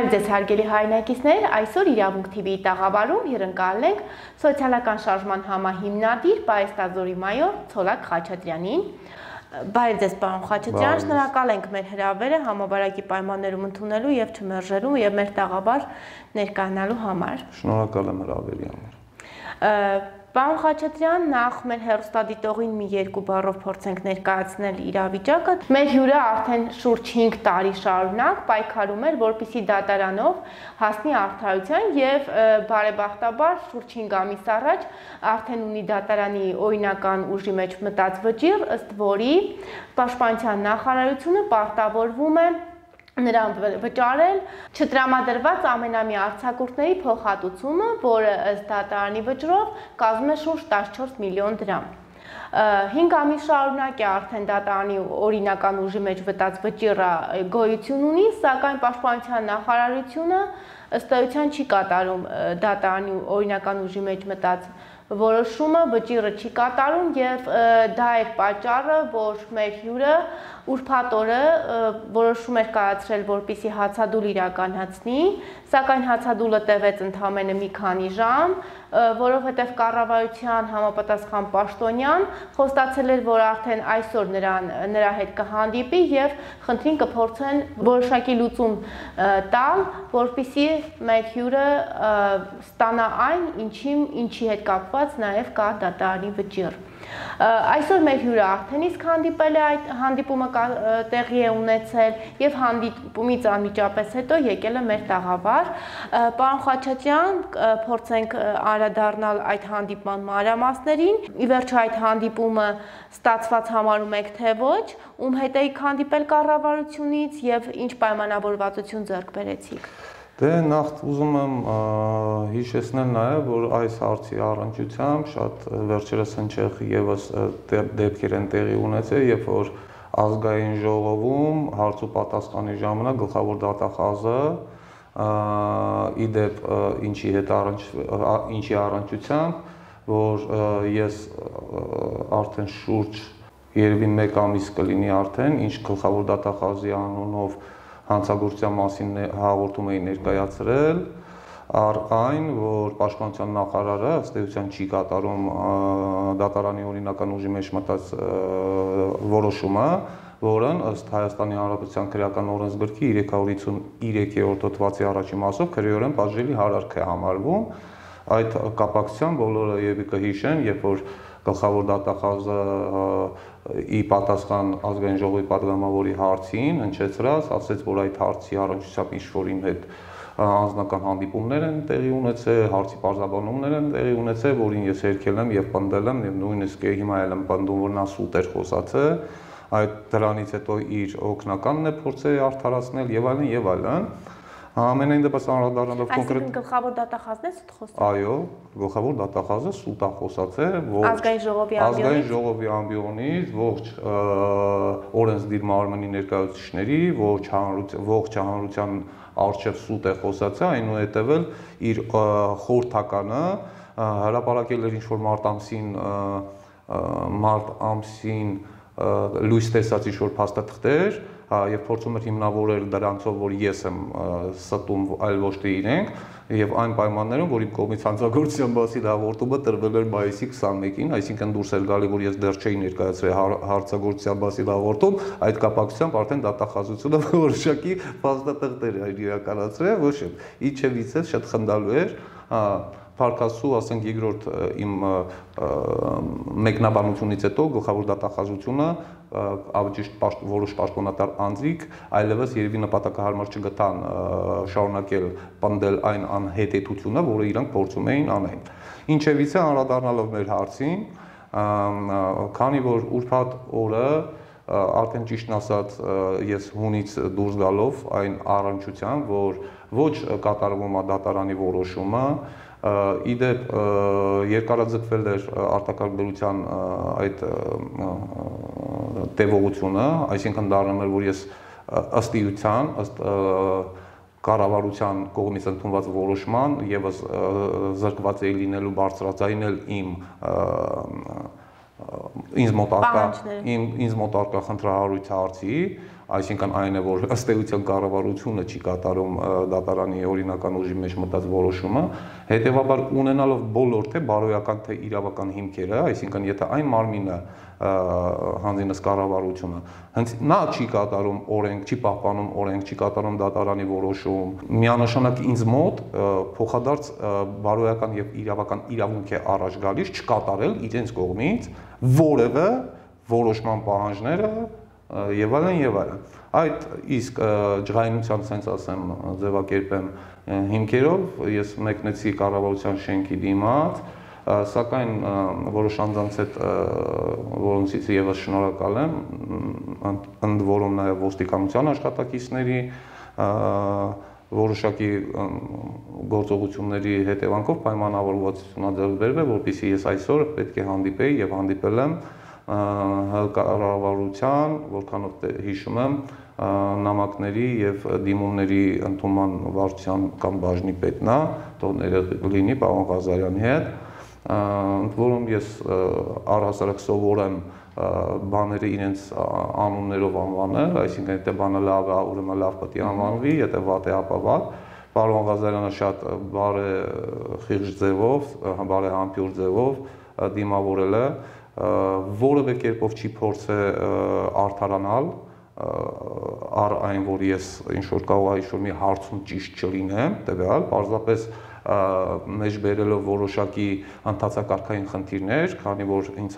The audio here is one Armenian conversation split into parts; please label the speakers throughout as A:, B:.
A: Բարև ձեզ հարգելի հայրենակիցներ, այսօր իրավունք TV-ի տաղավարում հյուրընկալել ենք սոցիալական շարժման համահիմնադիր պայեստազորի մայոր Ցոլակ Խաչատրյանին։ Բարև ձեզ պարոն Խաչատրյան, շնորհակալ ենք մեր հրավերը համավարակի պայմաններում ընդունելու եւ չմերժելու եւ մեր տաղավար ներկայանալու համար։
B: Շնորհակալ եմ հրավերի համար։
A: Պարոն Խաչատրյան, նախ մեր հեռուստադիտողին մի երկու բառով փորձենք ներկայացնել իրավիճակը։ Մեր հյուրը արդեն շուրջ 5 տարի շարունակ պայքարում էր, որպեսզի դատարանով հասնի արդարության եւ բարեբախտաբար շուրջ 5 ամիս առաջ արդեն ունի դատարանի օրինական ուժի մեջ մտած վճիռ, ըստ որի Պաշտպանության նախարարությունը պարտավորվում է նրան վճարել չտրամադրված ամենամյա արձակուրդների փոխհատուցումը, որը ըստ դատարանի վճռով կազմում է շուրջ 14 միլիոն դրամ։ 5 ամիս շարունակ է արդեն դատարանի օրինական ուժի մեջ մտած վճիռը գոյություն ունի, սակայն Պաշտպանության նախարարությունը ըստ էության չի կատարում դատարանի օրինական ուժի մեջ մտած որոշումը, վճիռը չի կատարում եւ դա է պատճառը, որ մեր հյուրը ուրբաթ օրը որոշում էր կայացրել, որպեսզի հացադուլ իրականացնի, սակայն հացադուլը տևեց ընդամենը մի քանի ժամ, որովհետև կառավարության համապատասխան պաշտոնյան խոստացել էր, որ արդեն այսօր նրա հետ կհանդիպի եւ խնդրին կփորձեն որոշակի լուծում տալ, որպեսզի մեր հյուրը ստանա այն, ինչի հետ կապված նաեւ կա դատարանի վճիռ։ Այսօր մեր հյուրը արդեն իսկ հանդիպել է, այդ հանդիպումը տեղի է ունեցել եւ հանդիպումից անմիջապես հետո եկել է մեր տաղավար։ Պարոն Խաչատրյան, փորձենք անդրադառնալ այդ հանդիպման մանրամասներին։ Ի վերջո այդ հանդիպումը ստացված համարում եք թե ոչ, ում հետ եք հանդիպել կառավարությունից եւ ինչ պայմանավորվածություն ձեռք բերեցիք։
B: Դե նախ ուզում եմ հիշեցնել նաև, որ այս հարցի առնչությամբ շատ վերջերս հնչեղ եւս դեպքեր են տեղի ունեցել, երբ որ ազգային ժողովում հարց ու պատասխանի ժամանակ գլխավոր դատախազը իդեպ ինչի առնչությամբ, որ ես արդեն շուրջ երևի 1 ամիս կլինի արդեն, ինչ գլխավոր դատախազի անունով հանցագործության մասին հաղորդում էի ներկայացրել, առ այն, որ Պաշտպանության նախարարը ըստ էության չի կատարում դատարանի օրինական ուժի մեջ մտած որոշումը, որն ըստ Հայաստանի Հանրապետության քրեական օրենսգրքի 353-րդ հոդվածի առաջին մասով քրեորեն պատժելի հարարք է համարվում։ Այդ կապակցությամբ բոլորը եւի կհիշեն, երբ որ գլխավոր դատախազը ի պատասխան ազգային ժողովի պատգամավորի հարցին հնչեցրած, ասաց, որ այդ հարցի առնչությամբ ինչ-որ իմ հետ անձնական հանդիպումներ են տեղի ունեցել, հարցի պարզաբանումներ են տեղի ունեցել, որին ես հերքել եմ եւ պնդել եմ եւ նույնիսկ հիմա էլ եմ պնդում, որ նա սուտ էր խոսացել, այդ դրանից հետո իր օգնականն է փորձել արդարացնել եւ այլն եւ այլն։ Ամենայն դեպս անդրադառնալով կոնկրետ
A: գլխավոր դատախազն է սուտ խոսել։
B: Այո, գլխավոր դատախազը սուտ է խոսացել,
A: ազգային
B: ժողովի ամբիոնից, ողջ օրենսդիր մարմնի ներկայացուցիչների, ողջ հանրության առջև սուտ է խոսացել, այնուհետև էլ իր խորհրդականը հրապարակել էր ինչ-որ մարտ ամսին լույս տեսած ինչ-որ փաստաթղթեր եւ փորձում էր հիմնավորել դրանցով, որ ես եմ ստում, այլ ոչ թե իրենք, եւ այն պայմաններում, որ իմ կողմից հանցագործության մասին հաղորդումը տրվել էր մայիսի 21-ին, այսինքն դուրս էր գալի, որ ես դեռ չէի ներկայացրել հանցագործության մասին հաղորդում, այդ կապակցությամբ արդեն դատախազությունը որոշակի փաստաթղթեր էր իրականացրել, ոչ էլ իջևից է շատ խնդալու էր, Փարքասու, ասենք երկրորդ իմ մեկնաբանությունից հետո գլխավոր դատախազությունը ավճիշտ որոշ պաշտոնատար անձիկ այլևս երևի նպատակահարմար չգտան շարունակել պնդել այն անհետեթությունը, որը իրանք փորձում էին անել։ Ինչևից է անդրադառնալով մեր հարցին, քանի որ ուրբաթ օրը արդեն ճիշտն ասած ես հունից դուրս գալով այն առնչությամբ, որ ոչ կատարվում է դատարանի որոշումը, իդեպ երկարաձգվել էր արտակարգ բերության այդ տևողությունը, այսինքն դառնում էր, որ ես ըստ իության, ըստ կառավարության կողմից ընդունված որոշման եւս զրկված էի լինելու բարձրաձայնել ինձ մոտ արկա խնդրահարույց հարցի, այսինքն այն է, որ ըստ էության կառավարությունը չի կատարում դատարանի օրինական ուժի մեջ մտած որոշումը, հետևաբար ունենալով բոլոր թե բարոյական թե իրավական հիմքերը, այսինքն եթե այն մարմինը հանձինս կառավարությունը հենց նա չի կատարում օրենք, չի պահպանում օրենք, չի կատարում դատարանի որոշում, միանշանակ ինձ մոտ փոխադարձ բարոյական եւ իրավական իրավունք է առաջ գալիս չկատարել իրենց կողմից որևէ որոշման պահանջները եւ այլն եւ այլն։ Այդ իսկ ջղայնության sense ասեմ ձևակերպեմ հիմքերով ես մեկնեցի կառավարության շենքի դիմաց, սակայն որոշ անձանց հետ որոնցից եւս շնորհակալ եմ, ընդ որում նաեւ ոստիկանության աշխատակիցների որոշակի գործողությունների հետևանքով պայմանավորվածություն ձեռք բերվել, որպեսզի ես այսօր պետք է հանդիպեի եւ հանդիպել եմ կառավարության, որքանով հիշում եմ, նամակների եւ դիմումների ընդունման վարչության կամ բաժնի պետն է, թող լինի պարոն Ղազարյանի հետ, ընդ որում ես առհասարակ սովոր եմ բաները իրենց անուններով անվանել, այսինքն եթե բանը լավ է, ուրեմն լավ պետք է անվանվի, եթե վատ է, ապա վատ։ Պարոն Ղազարյանը շատ բարեխիղճ ձևով, բարեհամբույր ձևով դիմավորել է, որևէ կերպով չի փորձել արդարանալ առ այն, որ ես ինչ-որ կարող է ինչ-որ մի հարցում ճիշտ չլինեմ, տվյալ, պարզապես մեջ բերելով որոշակի ընթացակարգային խնդիրներ, քանի որ ինձ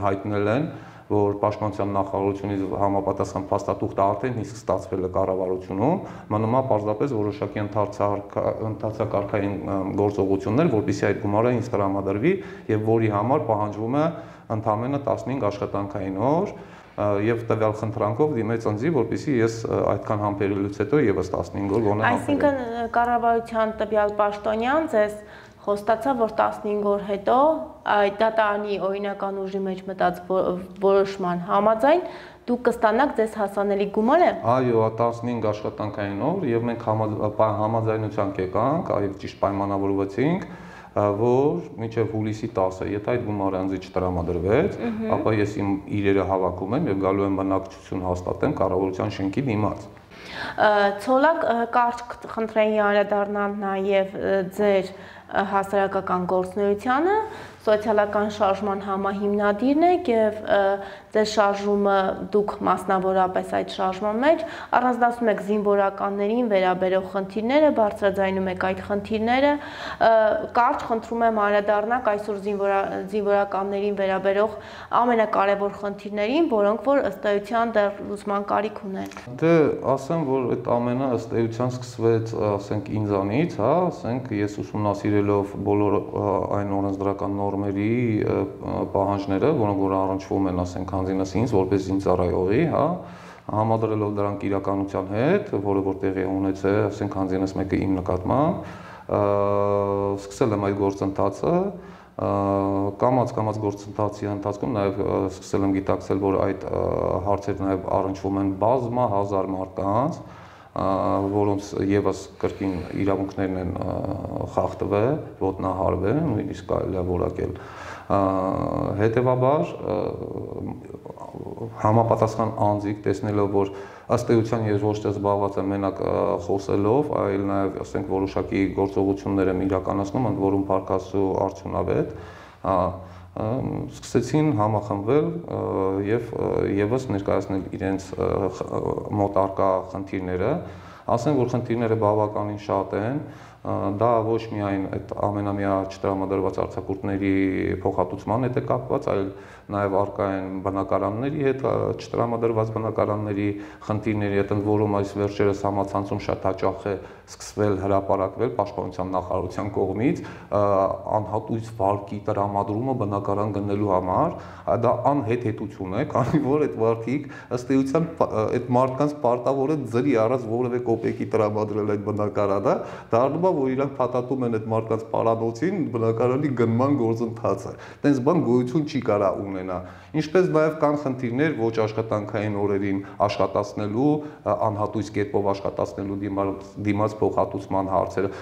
B: հայտնել են, որ Պաշտպանության նախարարությունից համապատասխան փաստաթուղթը արդեն իսկ ստացվել է կառավարությունում, մնում է պարզապես որոշակի ընթացակարգային գործողություններ, որպեսզի այդ գումարը ինձ տրամադրվի եւ որի համար պահանջվում է ընդամենը 15 աշխատանքային օր եւ տվյալ խնդրանքով դիմեց ինձ, որպեսզի ես այդքան համբերելուց հետո եւս 15 օր գոնե
A: Այսինքն կառավարության տվյալ պաշտոնյան ձեզ խոստացավ, որ 15 օր հետո այդ դատարանի օրինական ուժի մեջ մտած որոշման համաձայն դուք կստանաք ձեզ հասանելի գումարը։
B: Այո, 15 աշխատանքային օր եւ մենք համաձայնության կեկանք, այո, ճիշտ պայմանավորվեցինք, որ մինչև հուլիսի 10-ը, եթե այդ գումարը ինձ չտրամադրվեց, ապա ես իմ իրերը հավաքում եմ եւ գալու եմ բնակչություն հաստատեմ կառավարության շենքի դիմաց։
A: Ցոլակ կարճ խնդրեի անդրադառնալ նաեւ ձեր հասարակական գործունեությանը, սոցիալական շարժման համահիմնադիրն եք եւ ձեր շարժումը դուք մասնավորապես այդ շարժման մեջ առանձնացնում եք զինվորականներին վերաբերող խնդիրները, բարձրաձայնում եք այդ խնդիրները, կարճ խնդրում եմ անդրադառնաք այսօր զինվորականներին վերաբերող ամենակարևոր խնդիրներին, որոնք որ ըստ էության դեռ լուծման կարիք ունեն։
B: Դե ասեմ, որ այդ ամենը ըստ էության սկսվեց, ասենք ինձանից, հա, ասենք ես ուսումնասիրելով բոլոր այն օրենսդրական նորմերի պահանջները, որոնք որ առնչվում են, ասենք հանձինս ինձ որպես զինծառայողի, հա, համադրելով դրանք իրականության հետ, որը որ տեղի ունեցել, ասենք հանձինս մեկը իմ նկատմամբ, սկսել եմ այդ գործընթացը, կամաց գործընթացի ընթացքում նաև սկսել եմ գիտակցել, որ այդ հարցերը նաև առնչվում են բազմահազար մարդկանց, որոնց եւս կրկին իրավունքներն են խախտվել, ոտնահարվել, նույնիսկ կարելի է որակել։ Հետևաբար համապատասխան անձիկ տեսնելով, որ ըստ էության ես ոչ թե զբաղված եմ մենակ խոսելով, այլ նաև ասենք որոշակի գործողություններ եմ իրականացնում, ընդ որում փառքաստու արդյունավետ, սկսեցին համախմբվել եւ եւս ներկայացնել իրենց մոտ առկա խնդիրները, ասեմ, որ խնդիրները բավականին շատ են, դա ոչ միայն այդ ամենամյա չտրամադրված արձակուրդների փոխհատուցման հետ է կապված, այլ նաև առկա են բնակարանների հետ չտրամադրված բնակարանների խնդիրների հետ, ընդ որում այս վերջերս համացանցում շատ հաճախ է սկսվել հրապարակվել Պաշտպանության նախարարության կողմից անհատույց վարկի տրամադրումը բնակարան գնելու համար, դա անհեթեթություն է, քանի որ այդ վարկիկ ըստ էության այդ մարդկանց պարտավոր է ձրի առած որևէ կոպեկի տրամադրել այդ բնակարանը, դառնում է բա, որ իրանք փաթաթում են այդ մարդկանց պարանոցին բնակարանի գնման գործընթացը։ Տենց բան գոյություն չի կարա ունենա։ Ինչպես նաև կան խնդիրներ ոչ աշխատանքային օրերին աշխատացնելու, անհատույց կերպով աշխատացնելու դիմաց փոխհատուցման հարցերը։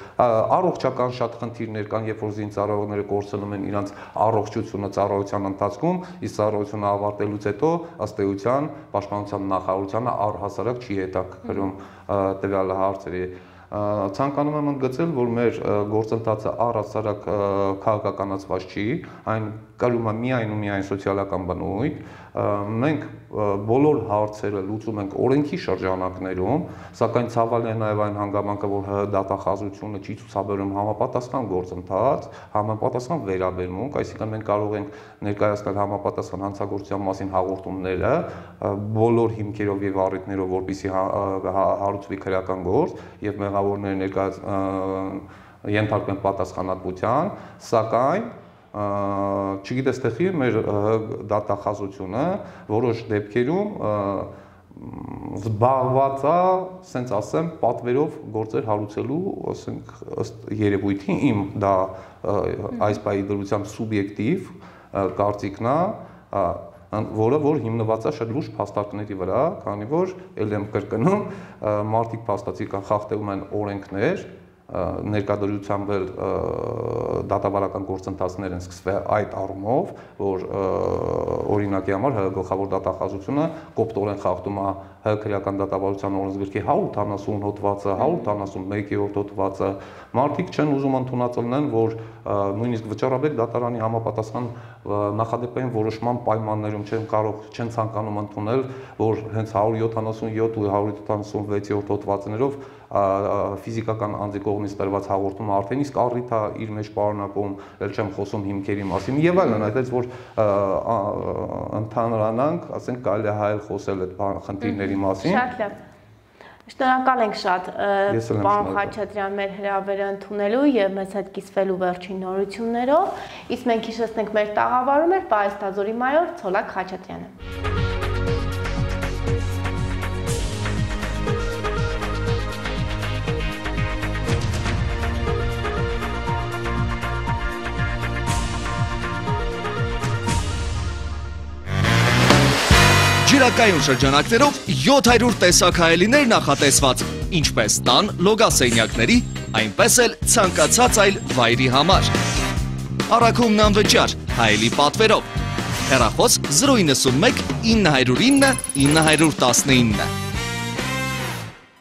B: Առողջական շատ խնդիրներ կան, երբ որ զինծառայողները կորցնում են իրենց առողջությունը ծառայության ընթացքում, իսկ ծառայությունը ավարտելուց հետո ըստ էության պաշտպանության նախարարությանը առհասարակ չի հետաքրքրում տվյալ հարցերը։ Ցանկանում եմ ընդգծել, որ մեր գործընթացը առհասարակ քաղաքականացված չի, այն կրում է միայն ու միայն սոցիալական բնույթ։ Մենք բոլոր հարցերը լուծում ենք օրենքի շրջանակներում, սակայն ցավալի է նաև այն հանգամանքը, որ դատախազությունը չի ցուցաբերում համապատասխան գործընթաց, համապատասխան վերաբերմունք, այսինքն մենք կարող ենք ներկայացնել համապատասխան հանցագործության մասին հաղորդումները բոլոր հիմքերով եւ առիթներով, որպեսզի հարուցվի քրեական գործ եւ մեղավորները ենթարկվեն պատասխանատվության, սակայն չգիտես թե խի մեր դատախազությունը որոշ դեպքերում զբաղված է, ասենց ասեմ, պատվերով գործեր հարուցելու, ասենք, ըստ երևույթի իմ դա այս բայի դրությամբ սուբյեկտիվ կարծիքն է, որը որ հիմնված է շատ լուրջ փաստարկների վրա, քանի որ ել եմ կրկնում, մարդիկ փաստացի խախտում են օրենքներ, ներկայությամբ էլ դատավարական գործընթացներ են սկսվել այդ առումով, որ օրինակի համար գլխավոր դատախազությունը կոպտորեն խախտում է քրեական դատավարության օրենսգրքի 180 հոդվածը, 181-րդ հոդվածը, մարդիկ չեն ուզում ընդունածելնեն, որ նույնիսկ վճարաբեկ դատարանի համապատասխան նախադեպային որոշման պայմաններում չեն ցանկանում ընդունել, որ հենց 177 ու 176-րդ հոդվածներով ֆիզիկական անձի կողմից տրված հաղորդումը արդեն իսկ առիթ է իր մեջ պարունակում, ել չեմ խոսում հիմքերի մասին եւ այլն, այդպես որ ընդհանրանանք, ասենք կարելի է հայել խոսել այդ խնդիրների մասին։
A: Շատ լավ։ Շնորհակալ ենք շատ պարոն Խաչատրյան մեր հրավերը ընդունելու եւ մեզ հետ կիսվելու վերջին նորություններով, իսկ մենք հիշեցնենք մեր տաղավարում էր պարիսպազորի մայոր Ցոլակ Խաչատրյանը։
C: Ջրակայուն շրջանակներով 700 տեսակ հայելիներ նախատեսված, ինչպես տան լոգասենյակների, այնպես էլ ցանկացած այլ վայրի համար։ Առաքումն անվճար, հայելի պատվերով։ Հեռախոս 091 909 919